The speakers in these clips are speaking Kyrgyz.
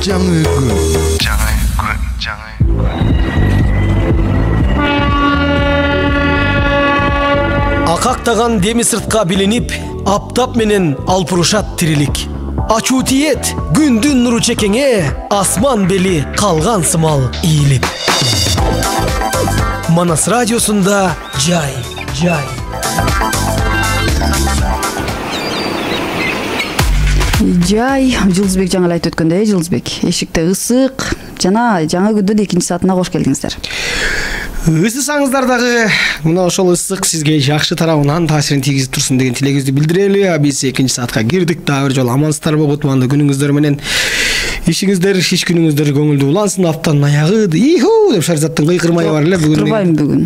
жаңы күн. Акактаган деми сыртка билинип, аптап менен алпурушат тирилик. Ачуу тиет күндүн нуру чекеңе, асман бели калган сымал ийилип. Манас радиосунда жай. Жай, Жылдызбек жаңы айтып өткөндөй, Жылдызбек, эшикте ысык жана жаңы күндүн 2-саатына кош келдиңиздер. Ысысаңыздар дагы мына ошол ысык сизге жакшы тарабынан таасирин тийгизип турсун деген тилегибизди билдирели. Биз 2-саатка кирдик. Дагы бир жолу амансыздарбы, кутмандуу күнүңүздөр менен. Иш күнүңүздөр көңүлдүү улансын. Аптанын аягы деп Шаризаттын кыйкырмайы бар эле бүгүн. Кыйкырбайм бүгүн.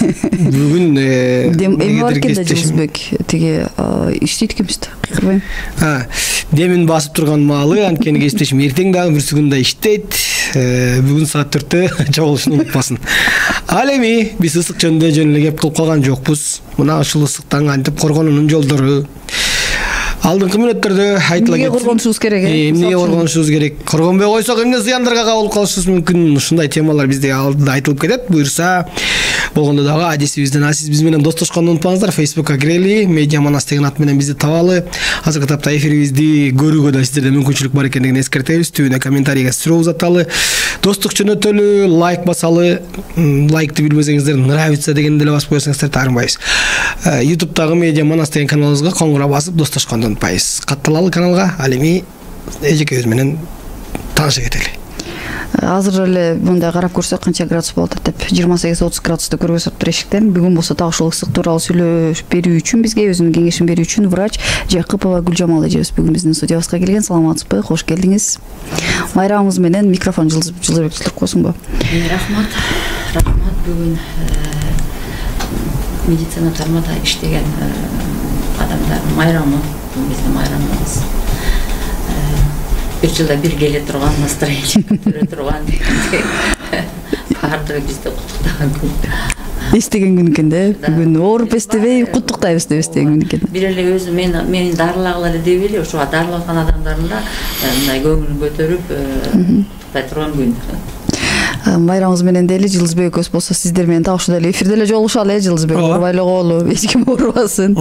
Бүгүн эми бар экен да Жылдызбек, тиги иштейт экенбиз да. Кыйкырбайм. Демин басып турган маалы, анткени кесиптешим эртең дагы бир секундда иштейт. Бүгүн саат 4-тө чогулушун унутпасын. Ал эми биз ысык жөнүндө жөн эле кеп кылып калган жокпуз. Мына ушул ысыктан кантип коргонуунун жолдору алдыңкы мүнөттөрдө айтыла кетти. Эмнеге коргонушубуз керек? Эмнеге коргонушубуз керек? Коргонбой койсок эмне зыяндарга кабылып калышыбыз мүмкүн? Ушундай темалар бизде алдыда айтылып кетет. Буюрса болгондо дагы адисибизден сиз биз менен достошконду унутпаңыздар. Facebook'ка кирели, Медиа Манас деген ат менен бизди табалы. Азыркы тапта эфирибизди көрүүгө да сиздерде мүмкүнчүлүк бар экендигин эскертебиз. Түбүнө комментарийге суроо узаталы, достук жөнөтөлү, лайк басалы. Лайкты билбесеңиздер, нравится дегенди деле басып койсоңуздар таарынбайбыз. YouTube'дагы Медиа Манас деген каналыбызга коңгура басып достошконду унутпайбыз. Катталалы каналга. Ал эми эжекебиз менен тааныша кетели. Азыр эле мындай карап көрсөк канча градус болот деп 28-30 градусты көрүп атыптыр эшиктен. Бүгүн болсо так ушул ысык тууралуу сүйлөшүп берүү үчүн бизге өзүнүн кеңешин берүү үчүн врач Жакыпова Гүлжамал эжебиз бүгүн биздин студиябызга келген. Саламатсызбы? Кош келдиңиз. Майрамыбыз менен микрофон Жылдызбек tutуп койсуңбу? Рахмат. Бүгүн медицина тармагында иштеген адамдар майрамы, биздин майрамыбыз. Bir жылда bir келе турган, настроение көтөрө турган. Баардыгы бизди куттуктаган күн. Эстеген күн экен да. Бүгүн ооруп эстебей, куттуктайбыз деп эстеген күн экен. Бир эле өзү мени дарылагыла эле деп эле, ошо дарыланган адамдардын да мындай көңүлүн көтөрүп куттуктай турган күн. Майрамыбыз менен дели Жылдызбек экөөбүз болсо сиздер менен так ушундай эле эфирде эле жолугушалы, Жылдызбек. Оорубай эле коолу, эч ким оорубасын.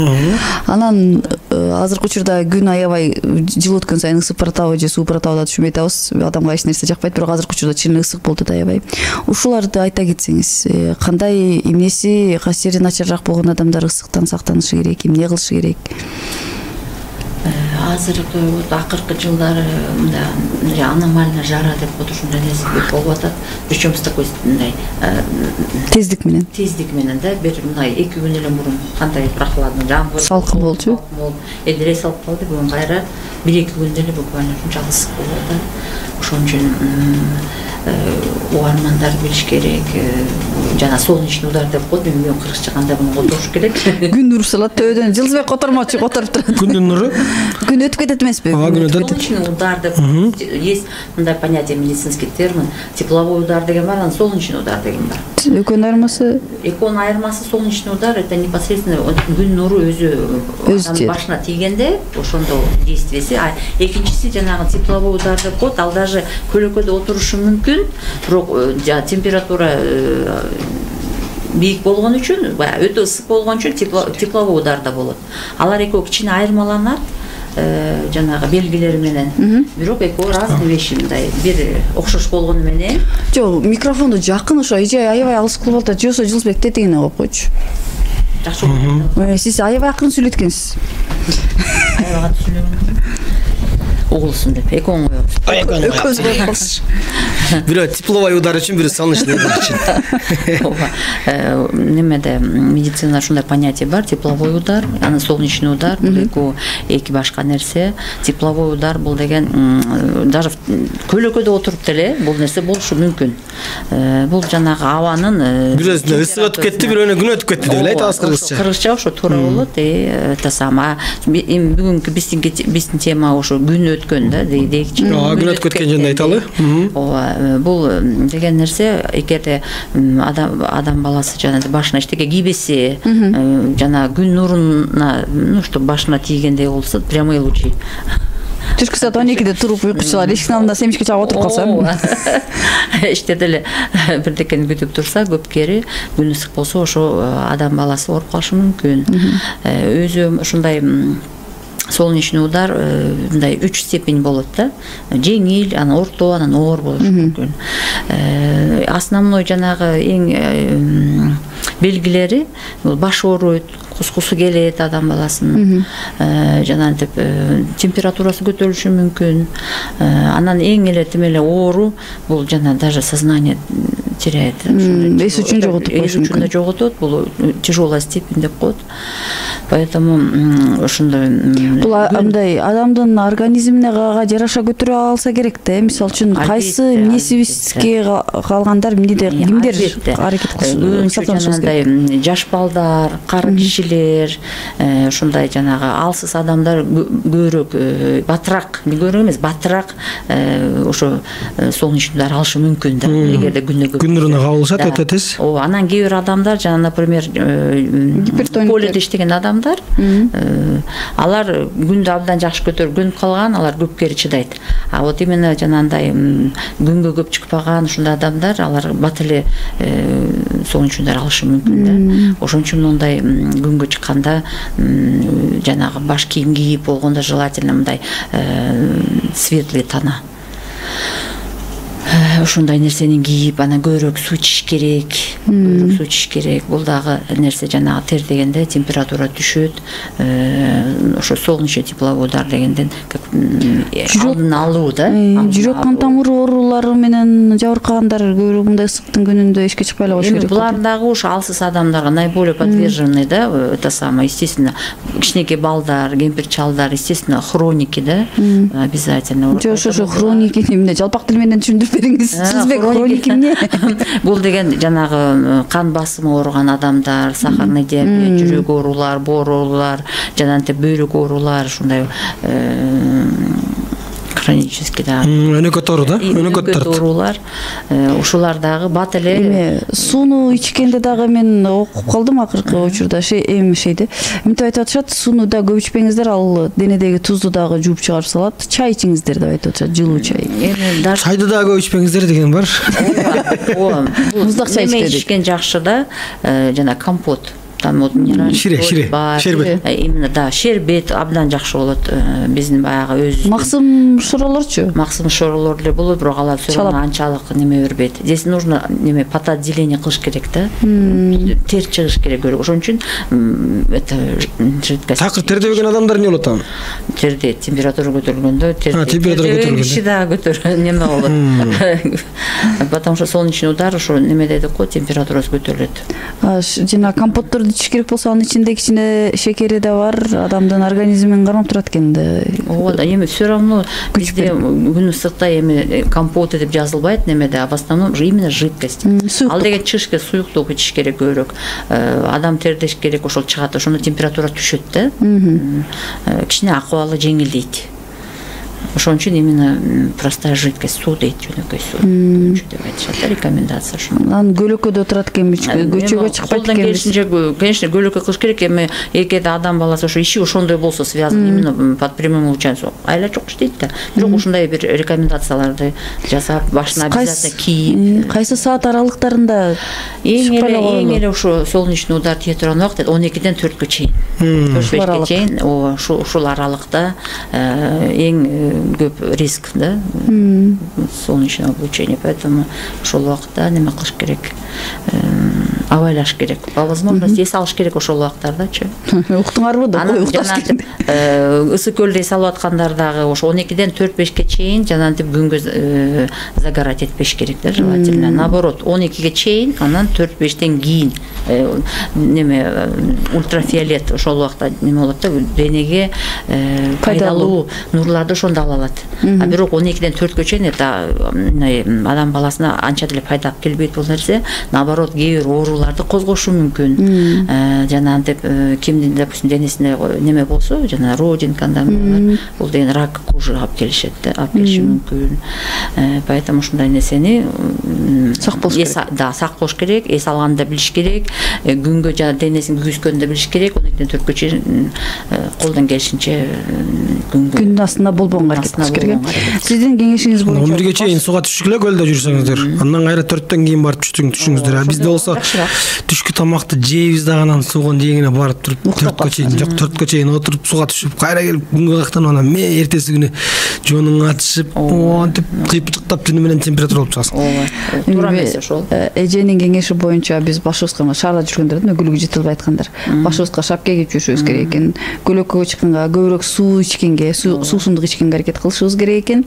Анан азыркы учурда күн аябай жыл өткөн сайын ысып баратабы же сууп баратабы да түшүнбөй атабыз. Адамга эч нерсе жакпайт, бирок азыркы учурда чын ысык болду да аябай. Ушуларды айта кетсеңиз, кандай эмнеси касири начарраак болгон адамдар ысыктан сактанышы керек, эмне кылышы керек? Азыркы акыркы жылдары мындай аномально жара деп коет, ушундай нерсе көп болуп атат. Причем с такой мындай тездик менен да бир мындай 2 күн эле мурун кандай прохладный жамгыр салкын болчу. Элдире салып калды, бүгүн кайра 1-2 күндө эле буквально ушунчалык ысык болуп атат. Ошон үчүн угармандар билиш керек. Жана солнечный удар деп коет, мен кыргызча кандай муну которуш керек. Күн нуру салат төбөдөн. Жылдызбек котормочу, которуп турат. Күндүн нуру? Күн өтүп кетет эмеспи? Солнечный удар деп есть мындай понятие, медицинский термин. Тепловой удар деген бар, анан солнечный удар деген бар. Экөөнүн айырмасы? Экөөнүн айырмасы солнечный удар это непосредственно күн нуру өзү башына тийгенде ошондо действиеси. Экинчиси жанагы тепловой удар деп коет, ал даже көлөкөдө отурушу мүмкүн, бирок температура бийик болгон үчүн, өтө ысык болгон үчүн тепловой удар да болот. Алар экөө кичине айырмаланат жанагы белгилери менен. Бирок экөө разный вещи, мындай бир окшош болгону менен. Жок, микрофонду жакын ошо эже аябай алыс кылып атат. Жосо Жылдызбек тетигине коюп койчу. Жакшы. Сиз аябай акырын сүйлөткөнсүз. Аябай катуу сүйлөгөн. Угулсын деп экөөң коебуз. Бирөө тепловой удар үчүн, бирөө солнечный удар үчүн. Немеде медицинада ушундай понятие бар, тепловой удар, анан солнечный удар, бул эки башка нерсе. Тепловой удар бул деген даже көлөкөдө отуруп деле бул нерсе болушу мүмкүн. Бул жанагы абанын бирөөсүндө ысык өтүп кетти, бирөөнө күн өтүп кетти деп эле айтабыз кыргызча. Кыргызча ошо туура болот. Это сама бүгүнкү биздин тема ошо күн өткөн да дейикчи. Күн өтүп кеткен жөнүндө айталы. Бул деген нерсе эгерде адам баласы жана башына эчтеке кийбеси, жана күн нуруна, что башына тийгендей болсо, прямой лучи Түшкү саат 12-де туруп уйку чыгар, эшиктин алдында семишке чагып отуруп калсам. Иштеди эле бирдекени күтүп турса, көпкери күн ысык болсо ошо адам баласы ооруп калышы мүмкүн. Өзү ушундай солнечный удар мындай 3 степень болот да. Жеңил, анан орто, анан оор болушу мүмкүн. Основной жанагы эң белгилери бул баш ооруйт, кускусу келет адам баласынын. Жанагынтип температурасы көтөрүлүшү мүмкүн. Анан эң эле оору бул жана даже сознание теряет. Эс үчүн жоготуп коюшу мүмкүн. Эс үчүн жоготот, бул тяжелая степень деп коет. Поэтому ошондой бул андай адамдын организмине жараша көтөрө алса керек да. Мисалы үчүн кайсы мнесибизге калгандар кимдер аракет кылышы? Жаш балдар, кары кишилер, ушундай жанагы алсыз адамдар көбүрөөк батыраак, көбүрөөк эмес, батыраак ошо солнечный удар алышы мүмкүн да. Эгерде күн нуруна кабылышат өтө тез. Анан кээ бир адамдар жана, например, поледе иштеген адамдар, алар күндү абдан жакшы көтөргөн калган, алар көпкери чыдайт. А вот именно жанандай күнгө көп чыкпаган ушундай адамдар, алар бат эле солнечный удар алышы мүмкүн да. Ошон үчүн мындай күнгө чыкканда жанагы баш кийим кийип болгондо желательно мындай светлый тона. Ушундай нерсени кийип, анан көбүрөөк суу ичиш керек. Суу ичиш керек. Бул дагы нерсе жанагы тер дегенде температура түшөт. Ошо солнечный тепловой удар дегенден алдын алуу да. Жүрөк кан тамыр оорулары менен жабыркагандар көбүрөөк мындай ысыктын күнүндө эшикке чыкпай эле коюш керек. Булар дагы ушу алсыз адамдарга наиболее подвержены да, это самое, естественно, кичинекей балдар, кемпир чалдар, естественно, хроники да, обязательно. Ошо хроники эмне? Жалпак тил менен түшүндүрүп бериңиз. Сизбек хроники эмне? Бул деген жанагы кан басымы ооруган адамдар, сахарный диабет, жүрөк оорулар, боор оорулар, жанагынтип бөйрөк оорулар, ушундай хронический да. Өнөкөт оору да? Өнөкөт оорулар. Ушулар дагы бат эле. Сууну ичкенде дагы мен окуп калдым акыркы учурда şeyде. Мынтип айтып атышат, сууну да көп ичпеңиздер, ал денедеги тузду дагы жууп чыгарып салат. Чай ичиңиздер деп айтып атышат, жылуу чай. Чайды дагы көп ичпеңиздер деген бар. Муздак чай ичкен жакшы да, жана компот. Там вот минеральный шербет. Именно да, шербет абдан жакшы болот. Биздин баягы өзүбүз. Максым шоролорчу? Максым шоролор эле болот, бирок алар все равно анчалык неме бербейт. Здесь нужно неме потоотделение кылыш керек да. Тер чыгыш керек. Ошон үчүн это жидкость. Такыр терде жүргөн адамдар эмне болот анан? Терде температура көтөрүлгөндө, температура көтөрүлгөндө киши дагы неме болот. Потому что солнечный удар ошо неме деп коет, температурасы көтөрүлөт. Жана компотторду ичиш керек болсо, анын ичинде кичине шекери да бар, адамдын организмин кармап турат экен да. Ооба, эми все равно бизде күн ысыкта эми компот деп жазылбайт немеде, а в основном именно жидкость. Ал деген чыгыш керек, суюктуу ичиш керек көбүрөөк. Адам тердеш керек, ошол чыгат, ошондо температура түшөт да. Кичине акыбалы жеңилдейт. Ошон үчүн именно простая жидкость, суу дейт, жөнөкөй суу деп айтышат, рекомендация ошо. Анан көлөкөдө турат экен, көчөгө чыкпайт экен. Конечно, көлөкө кылыш керек, эми эгерде адам баласы ошо иши ошондой болсо, связан именно под прямым участием, айла жок иштейт да. Бирок ушундай бир рекомендацияларды жасап, башына обязательно кийип. Кайсы саат аралыктарында? Эң эле ошо солнечный удар тие турган убакыт 12-ден 4-кө чейин. 4-5-ке чейин, ушул аралыкта эң көп риск да, солнечного облучения, поэтому ошол убакытта неме кылыш керек, абайлаш керек, по возможности эс алыш керек ошол убактардачы. Уктуңарбы да, укташ керек. Ысык көлдө эс алып аткандар дагы ошо 12-ден 4-5-ке чейин жанагынтип күнгө загорать этпеш керек да, желательно. Наоборот, 12-ге чейин, анан 4-5-тен кийин неме ультрафиолет ошол убакта неме болот да, денеге пайдалуу нурларды ошондо ала алат. А бирок 12-ден 4-кө чейин это адам баласына анча деле пайда алып келбейт бул нерсе. Наоборот, кээ бир ооруларды козгошу мүмкүн. Жанагынтип кимдин, допустим, денесинде неме болсо, жана родинка, бул деген рак кожи алып келишет да, алып келиши мүмкүн. Поэтому ушундай нерсени сак болуш керек. Да, сак болуш керек, эс алганды билиш керек, күнгө жана денесин күйгүзгөндү билиш керек. 12-4 чейин колдон келишинче күндүн астында болбогонго аракет кылыш керек. Сиздин кеңешиңиз боюнча 11ге чейин сууга түшкүлө көлдө жүрсөңүздөр, андан кайра 4төн кийин барып түшүңүздөр. Бизде болсо түшкү тамакты жейбиз дагы анан сууга жегине барып туруп 4ке чейин, жок 4ке чейин отуруп сууга түшүп, кайра келип күнгө кактанып анан эртеси күнү жонуң атышып, антип кыйпычыктап түнү менен температура болуп чыгасың. Туура эмес ошол. Эженин кеңеши боюнча биз башыбызга шаарда жүргөндөрдүн өгүлүгү жетилбей айткандар. Башыбызга шапка кийип жүрүшүбүз керек экен. Көлөккөгө чыкканга көбүрөөк суу ичкенге, суусундук ичкенге аракет кылышыбыз керек экен.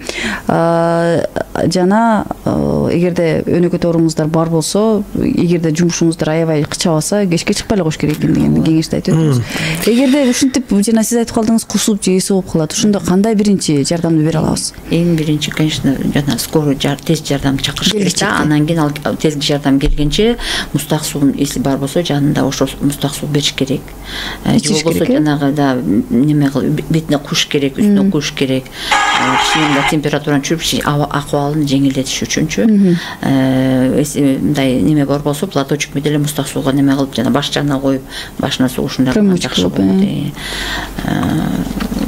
Жана эгерде өнөкөт ооруңуздар бар болсо, эгерде жумушуңуздар аябай кычабаса, кечке чыкпай эле коюш керек экен деген кеңешти айтып өттүңүз. Эгерде ушинтип жана сиз айтып калдыңыз, кусуп же эси болуп калат, ошондо кандай биринчи жардамды бере алабыз? Эң биринчи, конечно, жана скорый тез жардам чакырыш керек да. Анан кийин ал тезги жардам келгенче мустак суун эси бар болсо, жанында ошо мустак суу бериш керек. Же болбосо жанагы да неме кылып бетине куш керек, үстүнө куш керек. Кичине температураны түшүрүп, акыбалын жеңилдетиш үчүнчү. Мындай неме бар болсо, платочок менен эле мустак сууга неме кылып, жана баш жанына коюп, башына суу ушундай жакшы болот.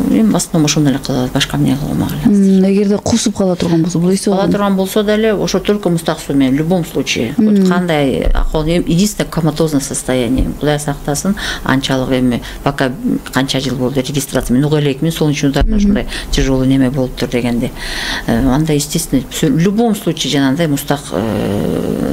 Эми басты ошондой эле кылат, башка эмне кыла алмаган. Эгерде кусуп кала турган болсо, бул эси кала турган болсо деле, ошо только мустак суу менен, в любом случае. Кандай акыл, единственное коматозное состояние. Кудай сактасын, анчалык эми пока канча жыл болду регистрация мен уга элекмин, солнечный удардан ушундай тяжелый неме болуптур дегенде. Анда естественно, в любом случае жанагындай мустак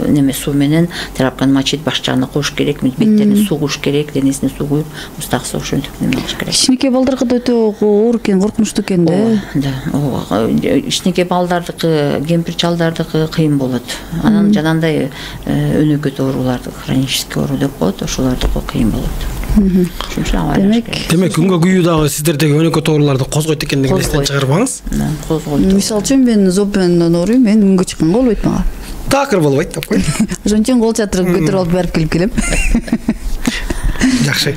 неме суу менен тряпканы мочить, баш жагына коюш керек, беттерине суу куюш керек, денесине суу куюп, мустак суу ошентип неме кылыш керек. Кичинекей балдарга да өтө оор экен, коркунучтуу экен да. Да, кичинекей балдардыкы, кемпир чалдардыкы кыйын болот. Анан жанагындай өнөкөт ооруларды, хронический оору деп коет, ошолордуку кыйын болот. Демек күнгө күйүү дагы сиздердеги өнөкөт ооруларды козгойт экендигин эстен чыгарбаңыз. Козгойт. Мисалы үчүн мен зоб менен ооруйм, мен күнгө чыкканга болбойт мага. Такыр болбойт деп кой. Ошон үчүн кол чатырып көтөрүп алып барып келип келем. Жакшы.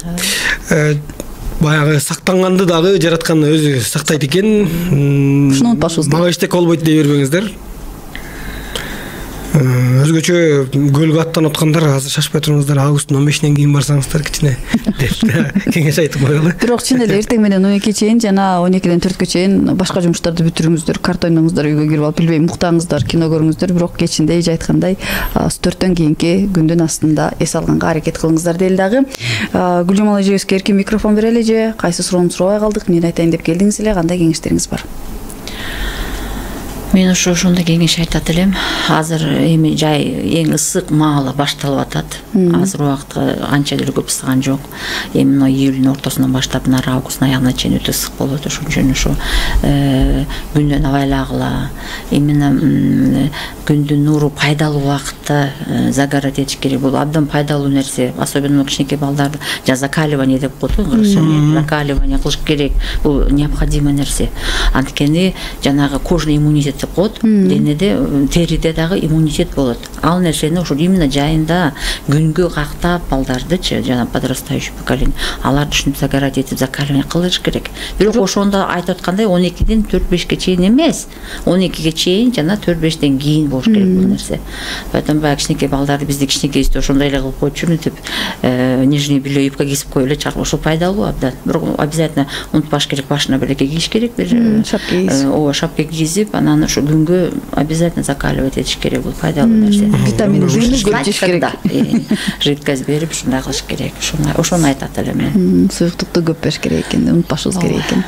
Баягы сактанганды дагы жараткан өзү сактайт экен. Ушуну унутпашыбыз керек. Мага эчтек болбойт дей бербеңиздер. Өзгөчө көлгө аттанып аткандар азыр шашпай туруңуздар, августтун 15-нен кийин барсаңыздар кичине деп кеңеш айтып коелу. Бирок чын эле эртең менен 12-ке чейин жана 12-ден 4-кө чейин башка жумуштарды бүтүрүңүздөр, карта ойноңуздар, үйгө кирип алып, билбейм, уктаңыздар, кино көрүңүздөр, бирок кечинде эже айткандай 4-төн кийинки күндүн астында эс алганга аракет кылыңыздар дейли дагы. Гүлжамал эжебизге эркин микрофон берели эже. Кайсы суроону сурабай калдык? Эмне айтайын деп келдиңиз эле? Кандай кеңештериңиз бар? Мен ошондой кеңеш айтат элем. Азыр эми жай эң ысык маалы башталып атат. Азыр убакыт анча деле көп ысыган жок. Эми мына июлдун ортосунан баштап нары августтун аягына чейин өтө ысык болот. Ошон үчүн ошо күндөн абайлагыла, именно күндүн нуру пайдалуу убакытта загорать этиш керек. Бул абдан пайдалуу нерсе. Особенно кичинекей балдарды закаливание деп коет, закаливание кылыш керек. Бул необходимый нерсе. Анткени жанагы кожный иммунитет деп коет, денеде, териде дагы иммунитет болот. Ал нерсени ошо именно жайында күнгө кактап балдардычы, жана подрастающий поколение, аларды ушинтип загорать этип, закаливание кылыш керек. Бирок ошондо айтып аткандай 12-ден 4-5ке чейин эмес, 12-ге чейин жана 4-5тен кийин болуш керек бул нерсе. Поэтому баягы кичинекей балдарды бизди кичинекейибизде ошондой эле кылып койчумун деп, нижний белье юбка кийип коюп эле чарп, ошо пайдалуу абдан. Бирок обязательно унутпаш керек, башына белекке кийиш керек, шапка кийип. Ооба, шапка кийип, анан ошо күнгө обязательно закаливать этиш керек, бул пайдалуу нерсе. Витамин Д'ни көрүп жеш керек. Жидкость берип, ушундай кылыш керек. Ошону айтат элем мен. Суюктукту көп бериш керек экен, унутпашыбыз керек экен.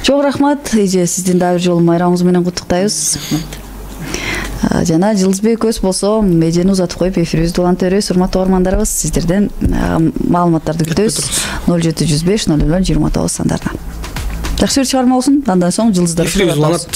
Чоң рахмат эже, сиздин дагы бир жолу майрамыңыз менен куттуктайбыз. Жана Жылдызбек Өз болсо эжени узатып коюп эфирибизди улантып, урматтуу угармандарыбыз, сиздерден маалыматтарды күтөбүз. 0705 00 29 сандарына. Жакшы бир чыгарма болсун. Андан соң Жылдыздар эфирибиз уланат.